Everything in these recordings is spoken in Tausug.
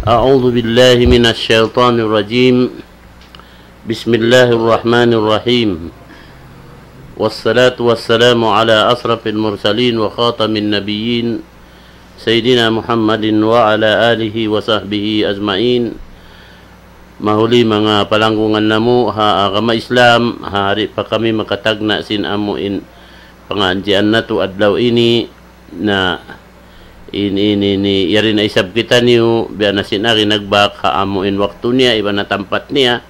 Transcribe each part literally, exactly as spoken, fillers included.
أعوذ بالله من الشيطان الرجيم. بسم الله الرحمن الرحيم. والصلاة والسلام على أشرف المرسلين وخاتم النبيين سيدنا محمد وعلى آله وصحبه أجمعين. Mahuli manga palanggungan namu' ha agama Islam, ha di' pa kami makatagna' sin amu in pangadjian natu' adlaw ini, na in, in, ini, yari na isab kitaniyu, biya' na sin ari nagbak ha amu in waktu niya, iban na tampat niya,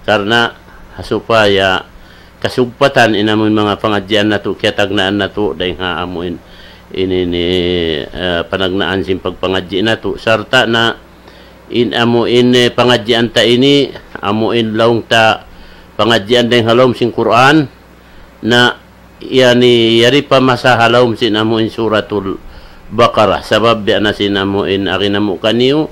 karna' ha supaya kasugpatan in amu in manga pangadjian natu', kiyatagnaan natu', dayng ha amu in, ini, ini, eh, panagnaan sin pagpangadji' natu', sarta' na in amu in, eh, pangadjian ta ini, amu in laung ta pangadjian dayng ha lawm sin Qur'an, na yani yari pa masa ha lawm sin amu in Suratul Baqarah. Sabab biya' na sin amu in ari namu' kaniyu,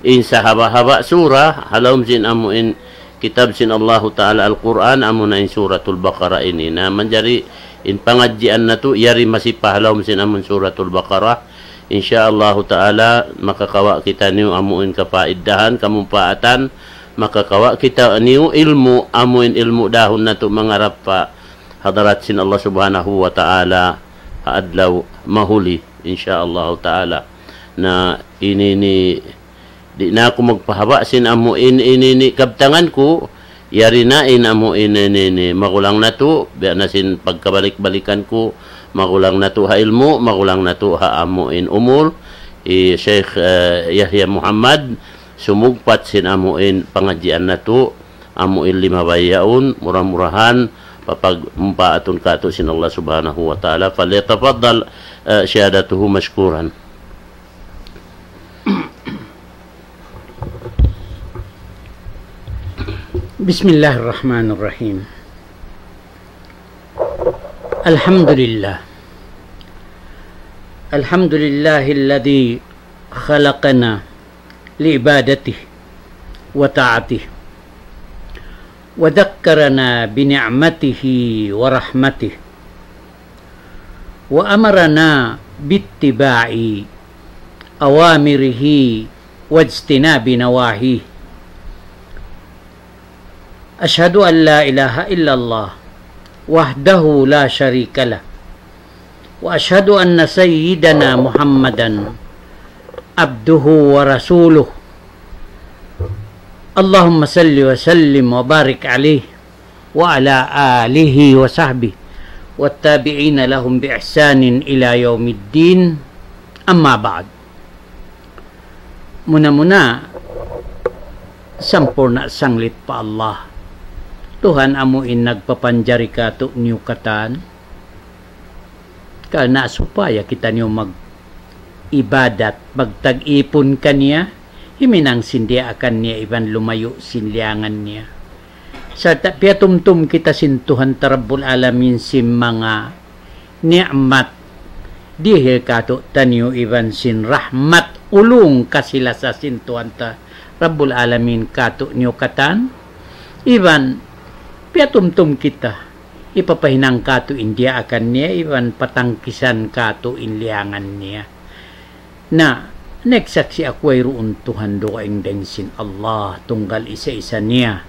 in sahaba'-haba' surah ha lawm sin amu in kitab sin Allahu Ta'ala Al-Qur'an, amu na in Suratul Baqarah ini. Na manjari in pangadjian natu' yari masi pa ha lawm sin amu in Suratul Baqarah. Insya Allahu Ta'ala, makakawa' kitaniyu amu in kapaidahan, kamumpaatan, makakawa' kitaniyu ilmu', amu in ilmu' dahun natu' mangarap pa hadarat sin Allah Subhanahu wa Ta'ala ha adlaw mahuli, insya Allahu Ta'ala. Na ini ini, di' na aku magpahaba' sin amu in, ini ini kabtangan ku, yari na in amu in, ini ini, magulang natu', biya' na sin pagkabalik-balikan ku, magulang natu' ha ilmu', magulang natu' ha amu in umul, hi Sheikh, eh, Yahya Muhammad, sumugpat sin amu in pangadjian natu', amu in limabay yaun, mura-murahan, papagmumpaatun katu' sin Allah Subhanahu wa Ta'ala. فليتفضل, eh, سيادته مشكورا. بسم الله الرحمن الرحيم. الحمد لله. الحمد لله الذي خلقنا لعبادته وطاعته، وذكرنا بنعمته ورحمته، وأمرنا باتباع أوامره واجتناب نواهيه. أشهد أن لا إله إلا الله وحده لا شريك له، وأشهد أن سيدنا محمدا عبده ورسوله. اللهم صل وسلم وبارك عليه وعلى آله وصحبه والتابعين لهم بإحسان إلى يوم الدين. أما بعد. Muna-muna, sampurna' sanglit pa Allah, Tuhan amu in nagpapanjari kātu'niyu katan, karna' supaya kitaniyu mag-ibadat, magtag-ipun kaniya, himinang sin diyaakan niya iban lumayu' sin liyangan niya. Sarta' piyatumtum kita sin Tuhan ta Rabbul Alamin sin manga ni'mat dihil kātu'niyu iban sin rahmat, ulung, kasi-lasa sin Tuhan ta Rabbul Alamin kātu'niyu katan, iban piyatumtum kita, hipapahinang kātu' in diyaakan niya, iban patangkisan kātu' in liyangan niya. Na, nagsaksi' aku wayruun Tuhan dugaing dayn sin Allah, tunggal isa-isa niya.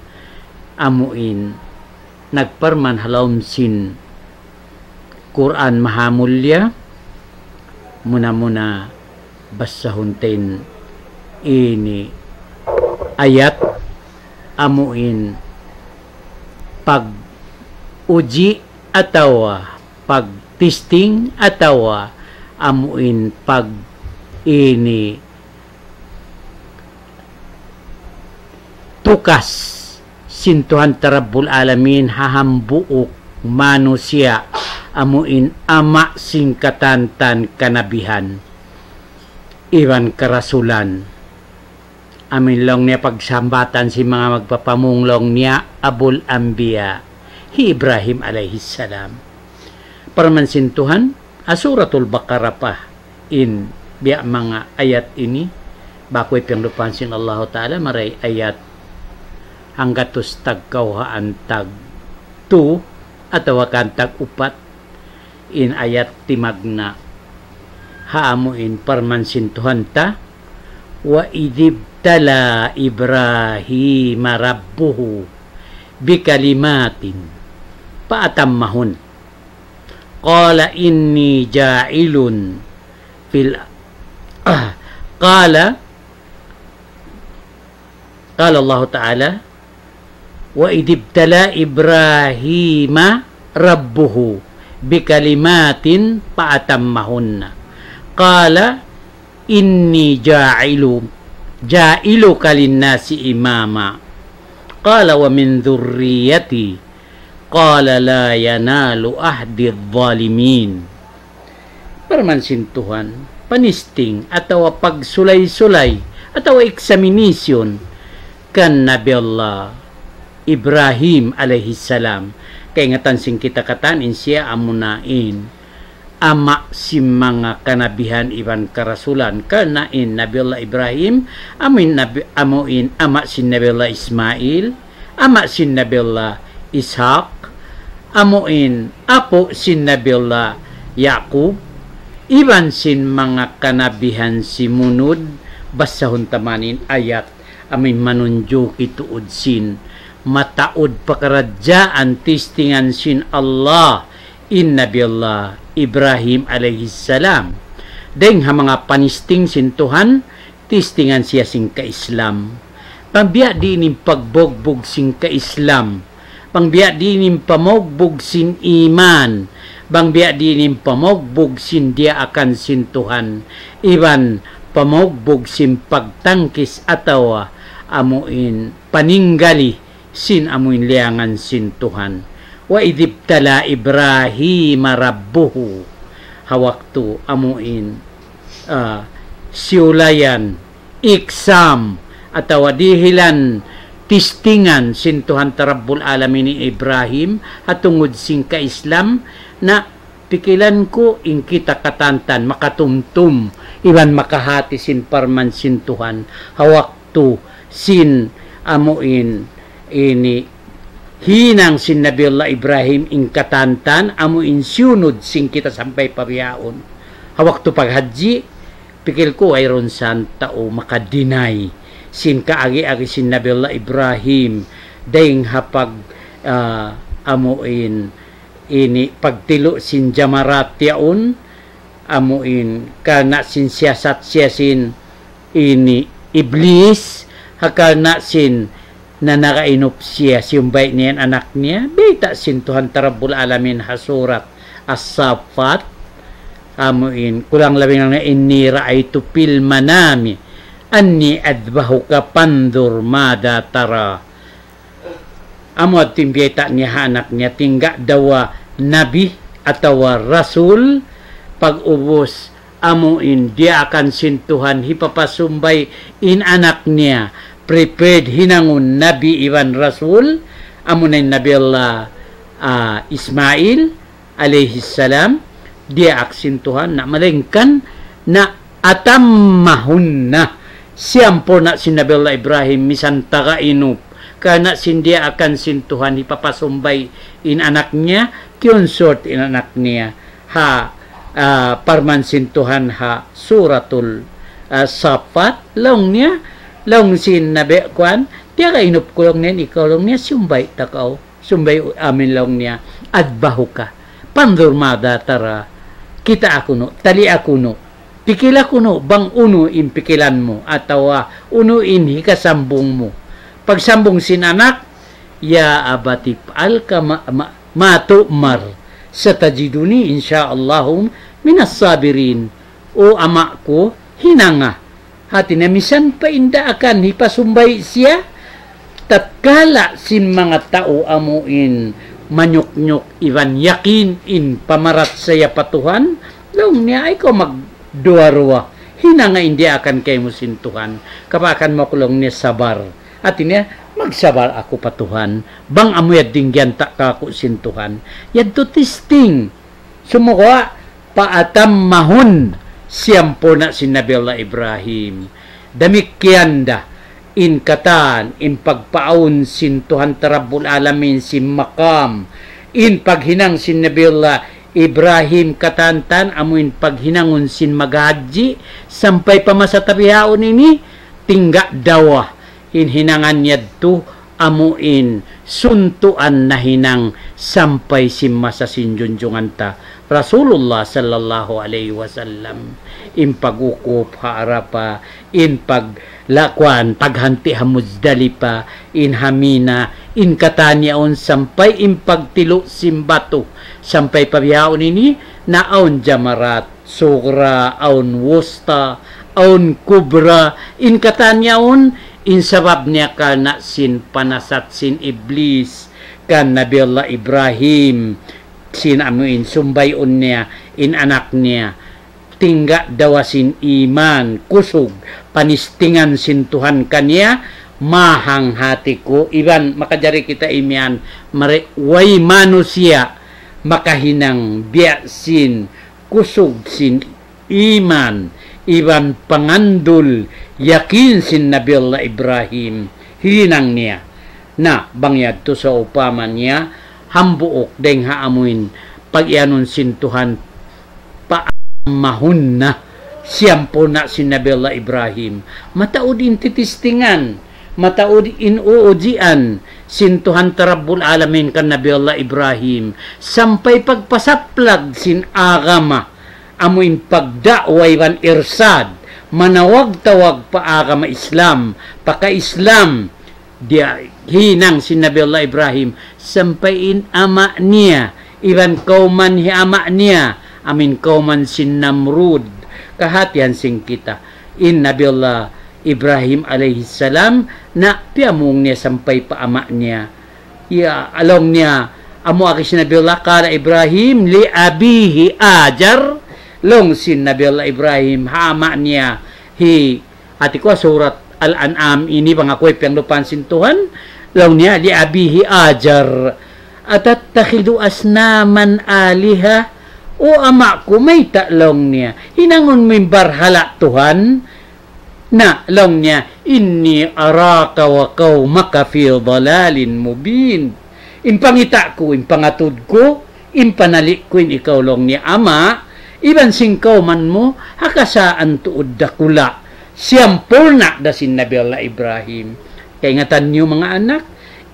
Amu in nagparman ha lawm sin Qur'an Mahamulliya, muna-muna basahun ta in ini ayat, amu in pag-uji atawa pag-testing atawa amu in pag-ini tukas sin Tuhan ta Rabbul Alamin ha hambuuk manusiya', amu in ama' sin katantan kanabihan iban karasulan. Amu in laung niya pagsambatan sin manga magpapamung laung niya Abul Anbiya, hi Ibrahim alayhis salam. Parman sin Tuhan, ha Suratul Baqarah pa in biya' manga ayat ini, baku' ipiyanglupahan sin Allahu Ta'ala, maray ayat hanggatus tagkawhaan tag tu, atawa kan tag upat, in ayat timagna', ha amu in parman sin Tuhan ta, وإذ ابتلى إبراهيم ربه بكلمات فأتمهن. قال إني جاعل في ال-، قال، قال الله تعالى: وإذ ابتلى إبراهيم ربه بكلمات فأتمهن. قال إني جاعل، جاعلك للناس إماما. قال ومن ذريتي. قال لا ينال عهدي الظالمين. Parman sin Tuhan, panisting atawa pagsulay-sulay atawa examination kan Nabi Allah Ibrahim alayhi salam. Kaingatan sin kita katan in siya amuna in ama' sin manga kanabihan iban karasulan, karna' in Nabi Allah Ibrahim, amu in Nabi, amu in ama' sin Nabi Allah Ismail, ama' sin Nabi Allah Ishaq, amu in apu' sin Nabi Allah Yaqub, iban sin manga kanabihan simunud. Basahun ta man in ayat amu in manunjuki tuud sin mataud pakaradjaan, tistingan sin Allah in Nabi Allah Ibrahim alayhi salam. Dayng ha manga panisting sin Tuhan, tistingan siya sin ka-Islam. Bang biya' diin in pagbugbug sin ka-Islam, bang biya' diin in pamugbug sin iman, bang biya' diin in pamugbug sin diyaakan sin Tuhan, iban pamugbug sin pagtangkis atawa amu in paninggali sin amu in liyangan sin Tuhan. وإذ ابتلى إبراهيم ربه. Ha waktu amu in, ah, siyulayan, exam, atawa dihilan, tistingan sin Tuhan ta Rabbul Alamin in Ibrahim, ha tungud sin ka-Islam, na pikilan ku in kita katantan, makatumtum, iban makahati sin parman sin Tuhan, ha waktu sin amu in ini hinang sin Nabi Allah Ibrahim in katantan, amu in siyunud sin kita sampay pa bihaun. Ha waktu paghajji, pikil ku wayruun san tau maka-deny sin kaagi-agi sin Nabi Allah Ibrahim, dayng ha pag, ah, amu in ini pagtilu' sin jamarat yaun, amu in karna' sin siyasat siya sin ini Iblis, ha karna' sin nanakainup siya, siyumbay' niya in anak niya, bayta' sin Tuhan ta Rabbul Alamin ha surat As-Saffat, amu in, kulang labi na, إني رأيت في المنام أني أذبحك فانظر ماذا ترى. Amu yadtu in biyayta' niya ha anak niya, tingga dawa nabi atawa rasul, pag'ubus amu in diyaakan sin Tuhan hipapasumbay in anak niya, prepared hinangun nabi iban rasul, amu na in Nabi Allah, ah, Ismail alayhi salam, diyaak sin Tuhan, na malayngkan na أتمهن, siyampurna' sin Nabi Allah Ibrahim, misan taga inup, karna' sin diyaakan sin Tuhan hipapasumbay in anak niya, kiyonsort in anak niya ha, ah, parman sin Tuhan ha Suratul, ah, Saffat, laung niya, laung sin Nabi kuwan, tiyaga inup ku laung niya, ikaw laung niya, siyumbay' ta kaw. Sumbay' amin laung niya, أذبحك فانظر ماذا ترى. Kitaa kunu', talia kunu', pikila kunu', bang unu in pikilan mu, atawa unu in hikasambung mu. Pagsambung sin anak, يا أبت افعل ما، ما، ما تؤمر ستجدني إن شاء الله من الصابرين. O ama' ku, hinanga. Hati niya misan pa in daakan hipasumbay' siya, tatkala sin manga tau amu in manyuknyuk iban yakin in pamarachaya pa Tuhan, laung niya ayaw kaw magduwa-ruwa. Hinanga in diyaakan kaymu sin Tuhan. Kapaakan mu aku laung niya sabar. Hati niya, magsabar aku pa Tuhan. Bang amu yadtu in giyanta' kāku' sin Tuhan. Yadtu testing. Sumagawa', فأتمهن, siyampurna' sin Nabi Allah Ibrahim. Damikkiyan da, in katan, in pagpaawn sin Tuhan ta Rabbul Alamin sin maqam, in paghinang sin Nabi Allah Ibrahim katantan amuin paghinangun sin maghajji, sampay pa masa ta bihaun ini, tingga' dawa in hinangan yadtu amuin suntuan nahinang sampay sin masa sin junjungan ta Rasulullah sallallahu alayhi wasallam. In pag-ukup ha Arapa, in paglakuan, paghanti ha Muzdalipa, in ha Mina, in katan yaun sampay in pagtilu' sin batu, sampay pa bihaun ini, na awn jamarat, sugra, awn wusta, awn kubra, in katan yaun, in sabab niya karna' sin panasat sin Iblis, kan Nabi Allah Ibrahim, sin amuin sumbayun niya, in anak niya, tingga' dawa sin iman, kusug, panistingan sin Tuhan kaniya, mahang hati ku, iban makajari kita imiyan, mari, way manusiya', makahinang biya' sin, kusug sin iman, iban pangandul, yakin sin Nabi Allah Ibrahim, hinang niya. Na, bang yadtu sa upama niya, hambuuk dayng ha amuin, pag-iyanun sin Tuhan, paammahun na, siyampurna' sin Nabi Allah Ibrahim. Mataud in titistingan, mataud in uujian, sin Tuhan ta Rabbul Alamin kan Nabi Allah Ibrahim, sampay pagpasaplag sin agama, amuin pagda'wa iban irsad, manawag-tawag pa agama Islam, paka-Islam, diya hinang sin Nabi Allah Ibrahim, sampay in ama' niya, iban kawman hi ama' niya, amuin kawman sin Namrud, kahatihan sin kita. In Nabi Allah Ibrahim alayhi salam, na piyamung niya sampay pa ama' niya. Ya, laung niya, amu agi sin Nabi Allah, قال إبراهيم لأبيه آزر, laung sin Nabi Allah Ibrahim, ha ama' niya, hi, hati ku surat Al-An'am ini bang aku ipiyanglupahan sin Tuhan, laung niya, لأبيه آزر أتتخذ أصناما آلهة, O ama' ku, mayta' laung niya, hinangun mu in barhala' Tuhan? Na, laung niya, إني أراك وقومك في ضلال مبين. In pangita' ku, in pangatud ku, in panali' ku in ikaw laung niya ama', iban sin kawman mu, ha kasaan tuud dakula'. Siyampurna' da sin Nabi Allah Ibrahim. Kaingatan niyu manga anak,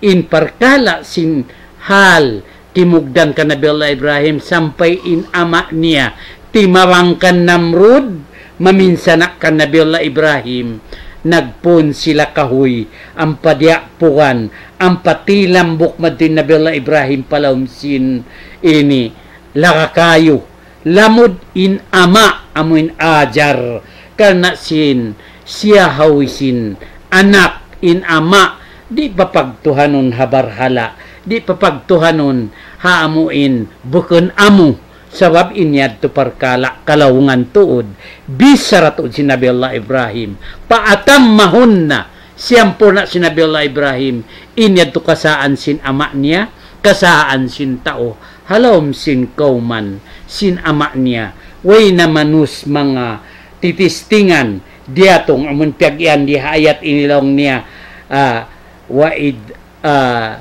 in parkala' sin hal, timugdan kan Nabi Allah Ibrahim sampay in ama' niya, timabang kan Namrud, maminsana' kan Nabi Allah Ibrahim, nagpun sila kahuy, ampa diyapugan, ampa tilambuk madtu in Nabi Allah Ibrahim pa lawm sin ini, laga kayu, lamud in ama', amu in Ajar, karna' sin, siya hawi sin, anak in ama', di' papagtuhanun ha barhala', di' papagtuhanun ha amu in bukun amu, sabab in yadtu parkala' kalaungan tuud, bichara tuud sin Nabi Allah Ibrahim, فأتمهن, siyampurna' sin Nabi Allah Ibrahim, in yadtu kasaan sin ama' niya, kasaan sin tau, ha lawm sin kawman, sin ama' niya, way na manus manga titistingan, diyatung amun piyag-iyan di ha ayat ini laung niya, ah, wa id, ah,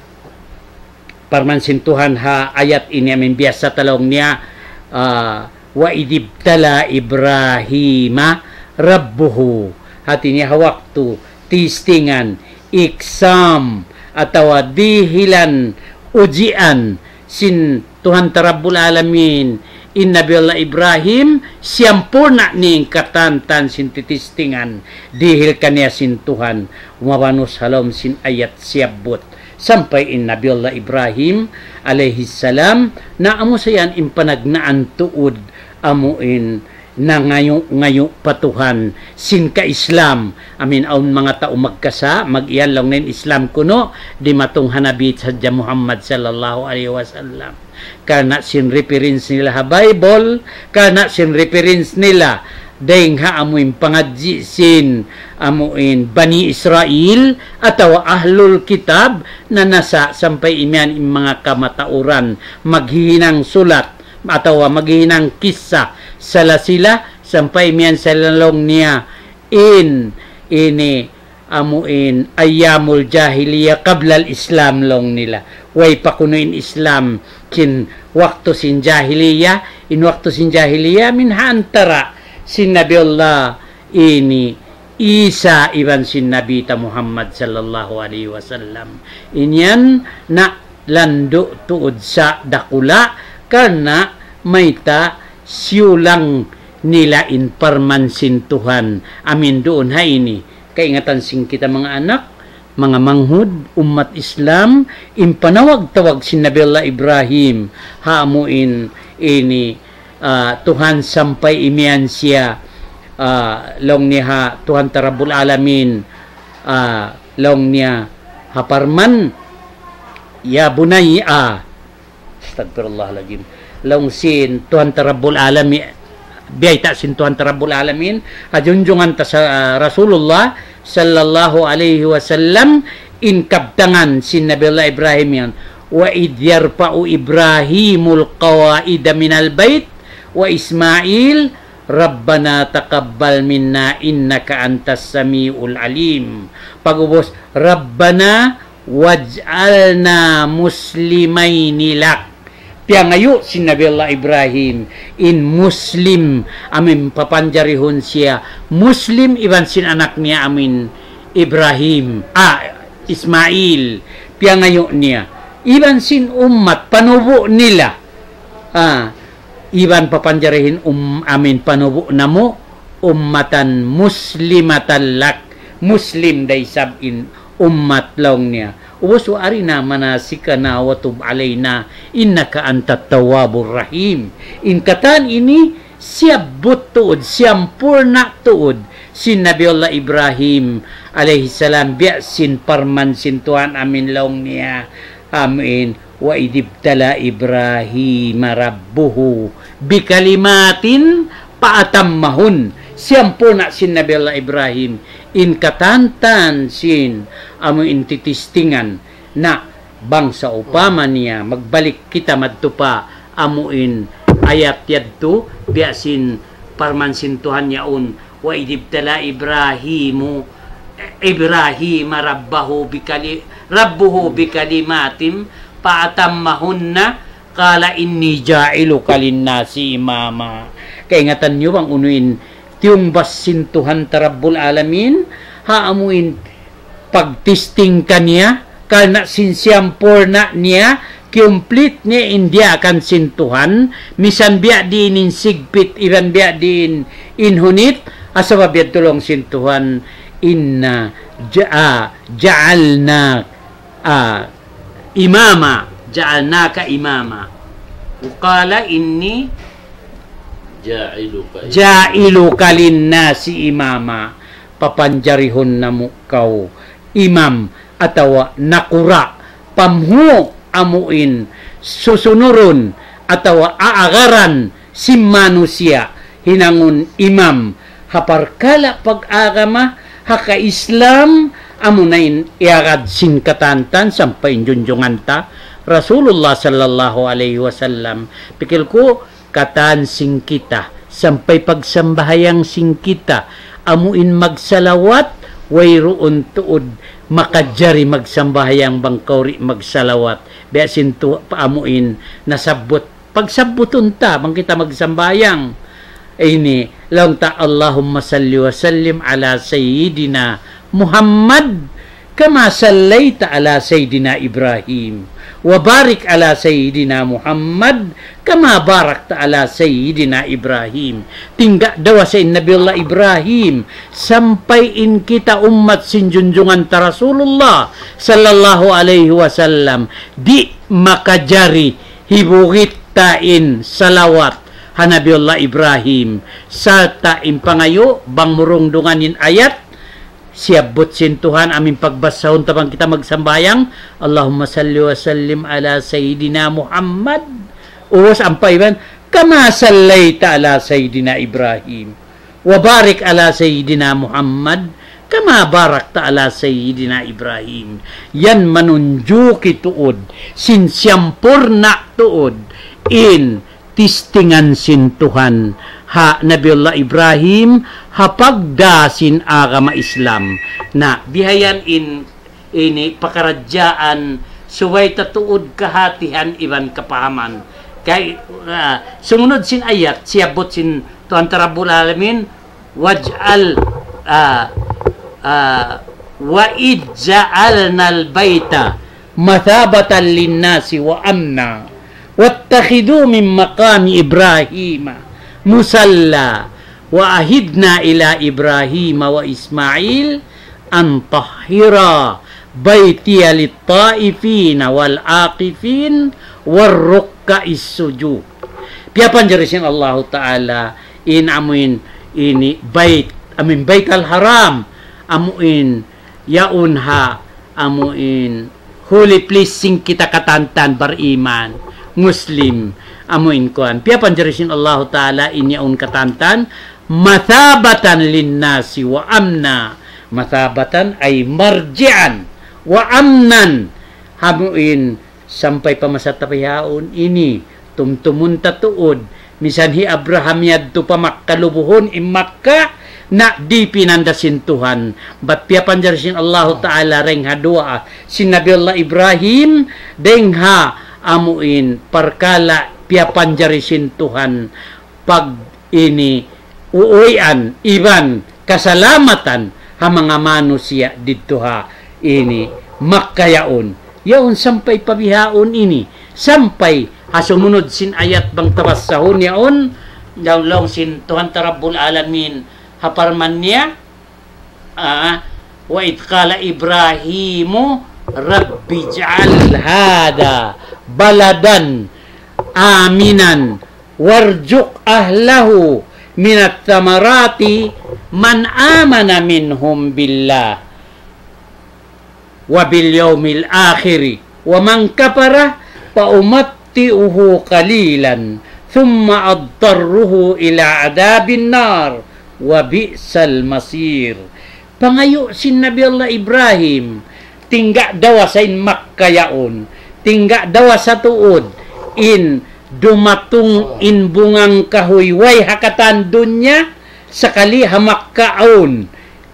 parman sin Tuhan ha ayat ini amun biyasa ta laung niya, ah, وإذ ابتلى إبراهيم ربه. Hati niya ha waktu, tistingan, exam, atawa dihilan, ujian, sin Tuhan ta Rabbul Alamin, in Nabi Allah Ibrahim, siyampurna' niya in katantan sin titistingan, dihil kaniya sin Tuhan, mabanus ha lawm sin ayat siyabbut. Sampay in Nabi Allah Ibrahim, alayhi salam, na amu sa yan in panagnaan tuud, amu in nangayu'-ngayu' pa Tuhan sin ka-Islam. Amin awn manga tau magkasa', mag-iyan laung nila in Islam kunu', dimatung ha Nabi sadja Muhammad sallallahu alayhi wasallam. Karna' sin reference nila ha Bible, karna' sin reference nila dayng ha amu in pangadji' sin amu in Bani Israel, atawa Ahlul Kitab, na nasa' sampay imiyan in manga kamatauran, maghihinang sulat, atawa maghihinang kissa, sila-sila, sampay miyan sila laung niya, in, ini, amu in, أيام الجاهلية قبل الإسلام laung nila. Way pa kunu' in Islam, sin waktu sin jahiliya, in waktu sin jahiliya amin ha antara' sin Nabi Allah ini Isa iban sin Nabi ta Muhammad sallallahu alayhi wasallam. In yan na landu' tuud sa dakula' karna' mayta' siyulang nila in parman sin Tuhan amin duun ha ini. Kaingatan sin kita manga anak, manga manghud, ummat Islam, in panawag-tawag sin Nabi Allah Ibrahim, ha amu in ini, ah, Tuhan sampay imiyan siya, ah, laung niya ha Tuhan ta Rabbul Alamin, ah, laung niya ha parman, "Ya bunayya," ah, astagfirullahalazim. Laung sin Tuhan ta Rabbul Alamin, biyayta' sin Tuhan ta Rabbul Alamin, ha junjungan ta sa, ah, Rasulullah sallallahu alayhi wasallam, in kabtangan sin Nabi Allah Ibrahim yan. وإذ يرفع إبراهيم القواعد من البيت وإسماعيل ربنا تقبل منا إنك أنت السميع العليم. Pag'ubus, ربنا واجعلنا مسلمين لك. Piyangayu' sin Nabi Allah Ibrahim in Muslim, amin papanjarihun siya Muslim iban sin anak niya amin Ibrahim, ah, Ismail. Piyangayu' niya iban sin ummat panubu' nila. Ah, iban papanjarihin um, amin panubu' namu' ummatan muslimatan lak, Muslim da isab in ummat laung niya. Ubus, وأرنا مناسكنا وتب علينا إنك أنت التواب الرحيم. In katan ini siyabbut tuud, siyampurna' tuud sin Nabi Allah Ibrahim alayhi salam, biya' sin parman sin Tuhan amin laung niya. Amin. وإذ ابتلى إبراهيم ربه بكلمات فأتمهن. Siyampurna' sin Nabi Allah Ibrahim in katantan sin amu in titistingan na bang sawpama niya magbalik kita madtu pa amu in ayat yadtu, biya' sin parman sin Tuhan yaun, وإذ ابتلى إبراهيم إبراهيم ربه بكلي ربه بكلمات فأتمهن قال إني جاعلك للناس إماما. Kaingatan niyu bang unu in tiyungbas sin Tuhan ta Rabbul Alamin, ha amu in pagtesting kaniya, karna' sin siyampurna' niya, kiyumplit niya in diyaakan sin Tuhan, misan biya' diin in sigpit, iban biya' diin in hunit, asabab yadtu laung sin Tuhan, إنا جع- جعلنا, ah, إماما, جعلناك إماما. قال إني جاعلك جاعلك للناس إماما. Papanjarihun namu' kaw imam atawa nakura', pamhu' amu in susunurun atawa aagaran sin manusiya' hinangun imam ha parkala' pag-agama, ha ka-Islam, amuna in iyagad sin katantan sampay in junjungan ta Rasulullah sallallahu alayhi wasallam. Pikil ku, katan sin kita, sampay pagsambahayang sin kita, amu in magsalawat, wayruun tuud makajari magsambahayang bang kaw di' magsalawat. Biya' sin tu, amu in nasabbut, pagsabbutun ta bang kita magsambahayang. Ini, laung ta, اللهم صل وسلم على سيدنا محمد كما صليت على سيدنا إبراهيم وبارك على سيدنا محمد كما باركت على سيدنا إبراهيم. Tingga' dawa sa in Nabi Allah Ibrahim, sampay in kita ummat sin junjungan ta Rasulullah sallallahu alayhi wasallam, di' makajari hibugit ta in salawat ha Nabi Allah Ibrahim, sarta' in pangayu' bang murungdungan in ayat, siyabbut sin Tuhan amu in pagbasahun ta bang kita magsambahayang, اللهم صل وسلم على سيدنا محمد. Ubus ampa iban, كما صليت على سيدنا إبراهيم وبارك على سيدنا محمد كما باركت على سيدنا إبراهيم. Yan manunjuki tuud, sin siyampurna' tuud, in tistingan sin Tuhan ha Nabiullah Ibrahim, ha pagdā sin agama Islam. Na, bihayan in, ini pakaradjaan subay ta tuud kahātihan iban kapahaman. Kay, ah, sumunud sin ayat, siyabbut sin Tuhan ta Rabbul Alamin, waj'al, ah, ah, wa idh ja'alnal baita mathabatan linnasi wa amna wattakhidhu min maqami Ibrahima musalla wa ahidna ila Ibrahima wa Ismail an tahhira baitiya lit-taifina wal-akifin war-rukka'is sujud. Piyapanjari sin Allahu Ta'ala in amuin ini bait, amuin Baital Haram, amuin yaun ha, amuin holy place sin kita katantan bariman, Muslim, amuin kuan. Piyapanjari sin Allahu Ta'ala in yaun katantan, mathabatan linnasi wa amna. Mathabatan ay marji'an, wa amnan, amuin sampay pa masa ta bihaun ini, tumtumun ta tuud, misan hi Abraham yadtu pa Makkah lubuhun in Makkah, na di' pinanda sin Tuhan, bat piyapanjari sin Allahu Ta'ala dayng ha duwaa sin Nabi Allah Ibrahim, dayng ha amuin parkala' piyapanjari sin Tuhan, pag ini uuwian iban kasalamatan ha manga manusiya' didtu ha ini Makkah yaun. Yaun sampay pa bihaun ini, sampay ha sumunud sin ayat bang ta basahun yaun, laung sin Tuhan ta Rabbul Alamin ha parman niya, ah, وإذ قال إبراهيم رب اجعل هذا بلدا آمنا وارزق أهله من الثمرات من آمن منهم بالله وباليوم الآخر ومن كفر فأمتعه قليلا ثم أضطره إلى عذاب النار وبئس المصير. Pangayu' sin Nabi Allah Ibrahim, tingga' dawa sa in Makkah yaun, tingga' dawa sa tuud in dumatung in bungang kahuy way ha katan dunya, sakali ha Makkah awn.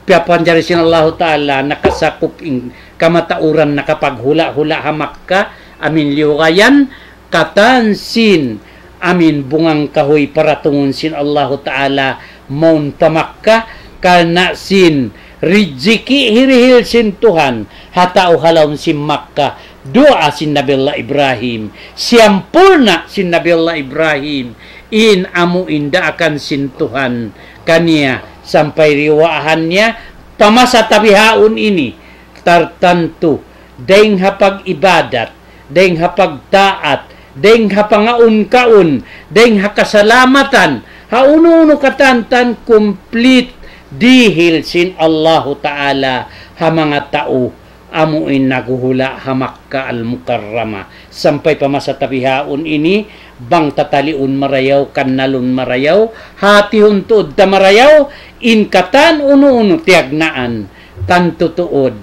Piyapanjari sin Allahu Ta'ala nakasakup in kamatauran nakapaghula'-hula' ha Makkah, amuin liyugayan, katan sin amuin bungang kahuy paratungun sin Allahu Ta'ala mawn pa Makkah, karna' sin rijiki' hirihil sin Tuhan ha tau ha lawm sin Makkah, duwaa sin Nabi Allah Ibrahim, siyampurna' sin Nabi Allah Ibrahim in amuin daakan sin Tuhan kaniya sampay diyuwaahan niya pa masa ta bihaun ini, tartantu dayng ha pag-ibadat, dayng ha pagtaat, dayng ha pangaun-kaun, dayng ha kasalamatan, ha unu-unu katantan, complete dihil sin Allahu Ta'ala ha manga tau amuin naghuhula' ha Makkah Al-Mukarramah. Sampay pa masa ta bihaun ini, bang tataliun marayaw, kannalun marayaw, hatihun tuud ta marayaw, in katan unu-unu tiyagnaan, tantu tuud,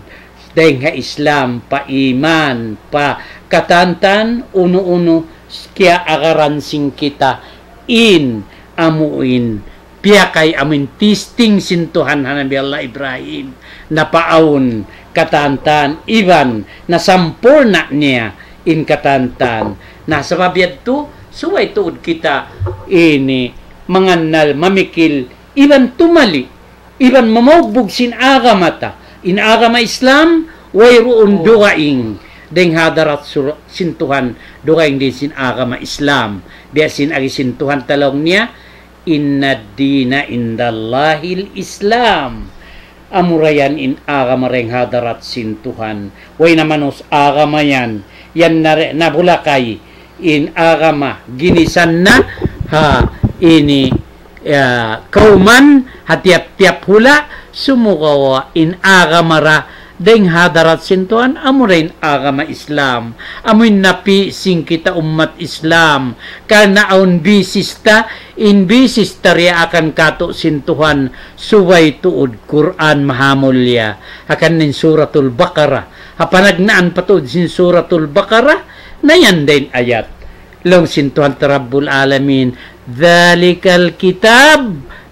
dayng ha Islam, pa iman, pa katantan, unu-unu, kiyaagaran sin kita, in, amuin, piyakay amuin testing sin Tuhan ha Nabi Allah Ibrahim, napaawn katantan, iban nasampurna' niya in katantan. Na sabab yadtu, subay tuud kita ini mangannal, mamikil, iban tumali, iban mamaugbug sin agama ta. In agama Islam, wayruun dugaing dayng hadarat sur-, sin Tuhan, dugaing dayn sin agama Islam. Biya' sin agi sin Tuhan ta laung niya, إن الدين عند الله الإسلام. Amura yan in agama dayng hadarat sin Tuhan. Way na manus agama yan. Yan na re-, nabulakay in agama ginisan na ha ini, ya, kawman ha tiyap-tiyap hula', sumagawa' in agama ra dayng hadarat sin Tuhan, amura in agama Islam. Amuin napi' sin kita ummat Islam. Karna' awn basis ta, in basis ta diyaakan kātu' sin Tuhan, subay tuud Qur'an mahamulliya. Hangkan in Suratul Baqarah. Ha panagnaan pa tuud sin Suratul Baqarah, na yan da in ayat. Laung sin Tuhan ta Rabbul Alamin, ذلك الكتاب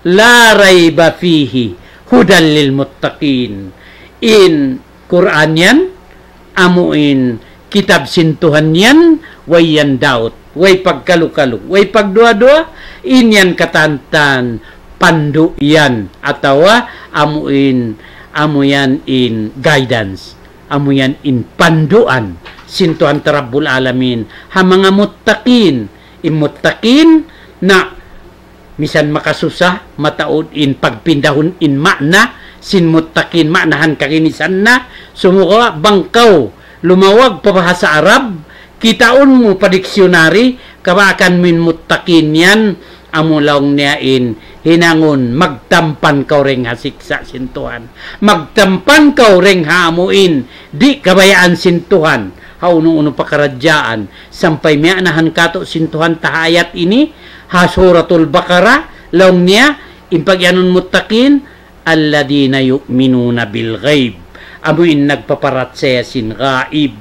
لا ريب فيه هدى للمتقين. In Qur'an yan, amuin kitab sin Tuhan yan, way yan doubt, way pagkalu-kalu, way pagduwa-duwa, in yan katantan pandu' yan, atawa amu in, amu yan in guidance, amu yan in panduan sin Tuhan ta Rabbul Alamin ha manga muttaqin. In muttaqin na misan makasusa, mataud in pagpindahun in ma'na sin muttaqin, ma'nahan kaginisan na, sumagawa' bang kaw lumawag pa bahasa Arab, kitaun mu pa dictionary, kabaakan mu in muttaqin yan, amu laung niya in hinangun, magtampan kaw dayn ha siksa' sin Tuhan. Magtampan kaw dayn ha amu in di' kabayaan sin Tuhan ha unu-unu pakaradjaan. Sampay miya'nahan katu' sin Tuhan ta ha ayat ini, ha Suratul Baqarah, laung niya, in pagiyanun muttaqin, الذين يؤمنون بالغيب. Amu in nagpaparachaya sin gaib.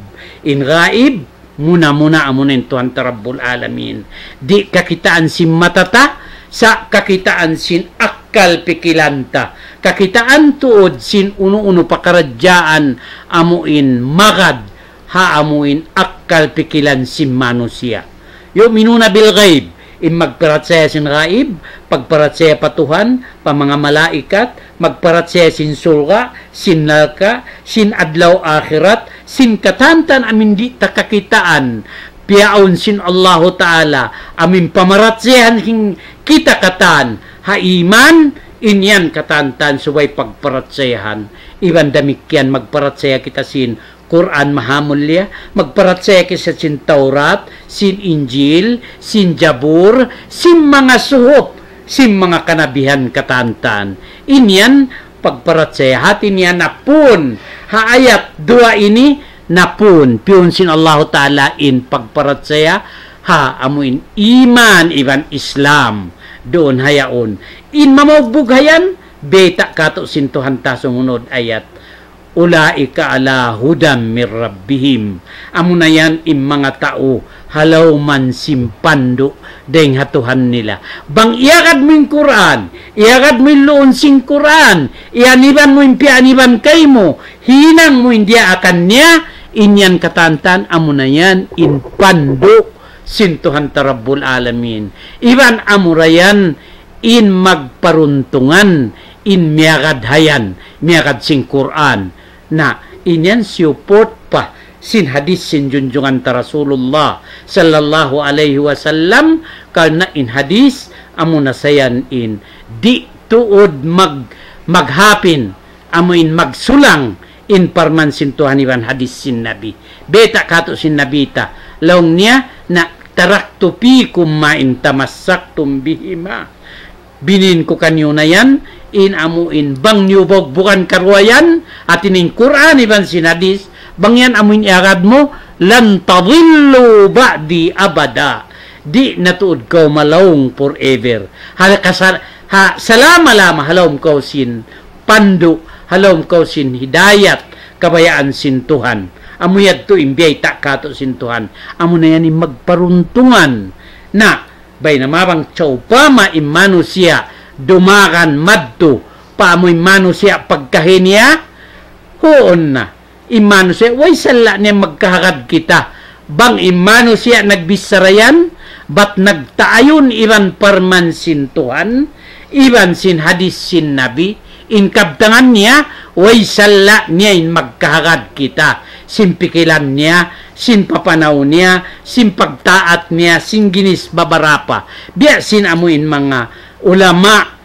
In gaib, muna-muna amu na in Tuhan ta Rabbul Alamin. Di' kakitaan sin mata ta, sa' kakitaan sin akkal pikilan ta. Kakitaan tuud sin unu-unu pakaradjaan amu in magad ha amu in akkal pikilan sin manusiya'. يؤمنون بالغيب, in magparachaya sin gaib, pagparachaya pa Tuhan, pa manga malaikat, magparachaya sin surga', sin narka', sin adlaw akhirat, sin katantan amu in di' ta kakitaan, piyaun sin Allahu Ta'ala, amu in pamarachayahan sin kita katan, ha iman, in yan katantan subay pagparachayahan. Iban damikkiyan magparachaya kita sin Qur'an mahamulliya, magparachaya kita sin Tawrat, sin Injil, sin Jabur, sin manga suhuf, sin manga kanabihan katantan. In yan pagparachaya hati niya napun. Ha ayat duwa ini napun. Piyun sin Allahu Ta'ala in pagparachaya ha amu in iman iban Islam. Duun ha yaun. In mamaugbug ha yan, bayta' katu' sin Tuhan ta sumunud ayat. أولئك على هدى من ربهم. Amu na yan in manga tau ha lawm sin pandu' dayn ha Tuhan nila. Bang iyagad mu in Qur'an, iyagad mu in luun sin Qur'an, iyaniban mu in piyaniban kaymu, hinang mu in diyaakan niya, in yan katantan amu na yan in pandu' sin Tuhan ta Rabbul Alamin. Iban amu ra yan in magparuntungan, in miyagad ha yan, miyagad sin Qur'an. Na, in yan support pa sin hadith sin junjungan ta Rasulullah sallallahu alayhi wasallam, karna' in hadith amu na sa yan in di' tuud mag-, maghapin, amu in magsulang in parman sin Tuhan iban hadith sin Nabi. Bayta' katu' sin Nabi ta, laung niya na, تركت فيكم ما إن تمسكتم بهما. Biyun ku kaniyu na yan, in amu in bang niyu bugbugan karuwa yan, hati niya in Qur'an iban sin hadith, bang yan amu in iyagad mu, لن تضلوا بعدي أبدا. Di' na tuud kaw malaung forever. Ha, kasal-, ha, salama-lama ha lawm kaw sin pandu', ha lawm kaw sin hidayat, kabayaan sin Tuhan. Amu yadtu in biyayta' katu' sin Tuhan. Amu na yan in magparuntungan. Na, baynama bang sawpama in manusiya' dumagan madtu pa amu in manusiya' pagkahi niya, huun na. In manusiya', way sala' niya magkahagad kita. Bang in manusiya' nagbichara yan, bat nagtaayun iban parman sin Tuhan, iban sin hadith sin Nabi, in kabtangan niya, way sala' niya in magkahagad kita. Sin pikilan niya, sin papanaw niya, sin pagtaat niya, sin ginis babarapa. Biya' sin amu in manga ulama,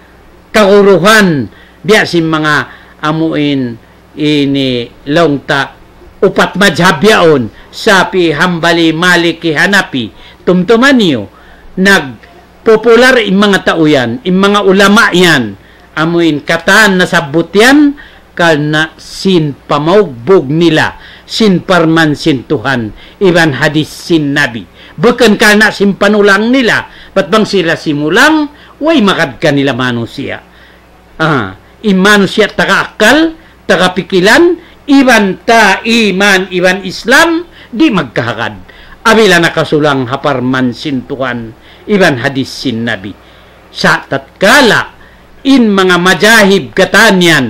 kaguruhan, biya' sin manga amu in ini laung ta upat madhab yaun, Shafi'i, Hanbali, Maliki, Hanafi, tumtuma niyu, nagpopular in manga tau yan, in manga ulama yan, amu in katan nasabbut yan, karna' sin pamaugbug nila, sin parman sin Tuhan, iban hadith sin Nabi. Bukun karna' sin panulang nila, bat bang sila simulang, way magad kanila manusiya'. Ah, in manusiya' taga akkal, taga pikilan, iban ta iman, iban Islam, di' magkahagad. Apabila nakasulang ha parman sin Tuhan, iban hadith sin Nabi. Sa' tatkala, in manga madhahib katan yan,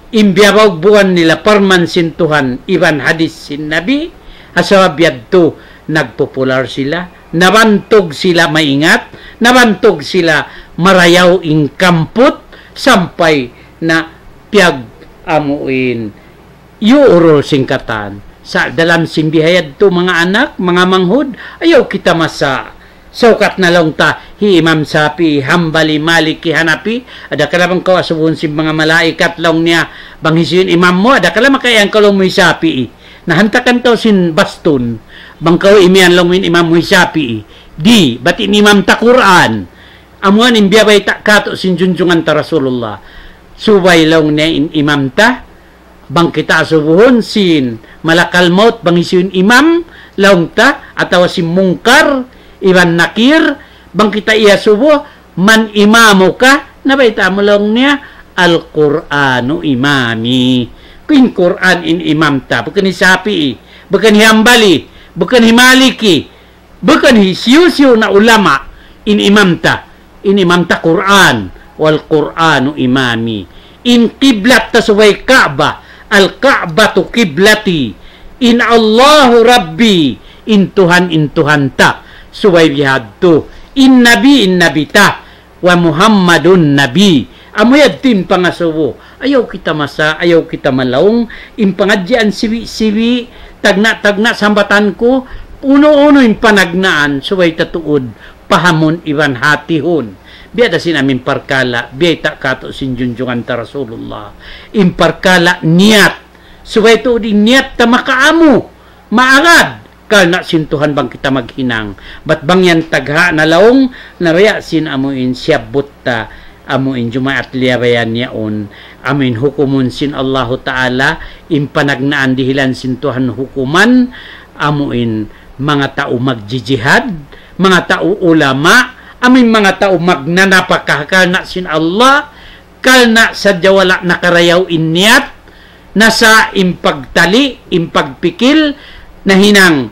in biyabaugbugan nila parman sin Tuhan, iban hadith sin Nabi, ha sabab yadtu, nagpopular sila, Nabantug sila maingat, nabantug sila marayaw in kamput, sampay na piyag amuin yuurul sin katan. Sa' dalam sin bihayadtu, manga anak, manga manghud, ayaw kita masa. Saukat na laung ta, hi Imam Shafi'i, Hambali, Maliki, Hanafi, adakala bang kaw asubuhun sin manga malaikat laung niya, bang hisiyu in imam mu, adakala makaiyan kaw laung mu hi Shafi'i. Na hantakan kaw sin bastun, bang kaw imiyan laung mu in imam mu hi Shafi'i. Di', bat in imam ta Qur'an. Amu yan in biyabayta' katu' sin junjungan ta Rasulullah. Subay laung niya in imam ta, bang kita asubuhun sin malakal maut, bang hisiyu in imam, laung ta, atawa sin Munkar, iban Nakir, bang kita iyasubu, man imamuka, nabayta' mu laung niya, Al-Qur'anu imami. In Qur'an in imam ta, bukun hi Shafi'i, bukun hi Hambali, bukun hi Maliki, bukun hisiyu-siyu na ulama, in imam ta, in imam ta Qur'an, wal Qur'anu imami. In kiblat ta subay Ka'bah, al Ka'batu kiblati. In Allahu Rabbi, in Tuhan, in Tuhan ta, subay bihadtu. In Nabi, in Nabi ta, wa Muhammadun Nabi. Amu yadtu in pangasubu. Ayaw kita masa, ayaw kita malaung. In pangadjian siwi-siwi, tagna'-tagna' sambatan ku, unu-unu in panagnaan, subay ta tuud pahamun iban hatihun. Biya' da sin amin parkala', biyayta' katu' sin junjungan ta Rasulullah. In parkala' niyat, subay tuud in niyat ta makaamu, maagad, karna' sin Tuhan bang kita maghinang. Bat bang yan tagha' na laung, na biya' sin amu in siyabbut ta, amu in Jumaat liyabayan yaun, amu in hukumun sin Allahu Ta'ala, in panagnaan dihilan sin Tuhan hukuman, amu in manga tau magjijihad, manga tau ulama, amu in manga tau magnanapaka karna' sin Allah, karna' sadja wala' nakarayaw in niyat, nasa' in pagtali', in pagpikil, nahinang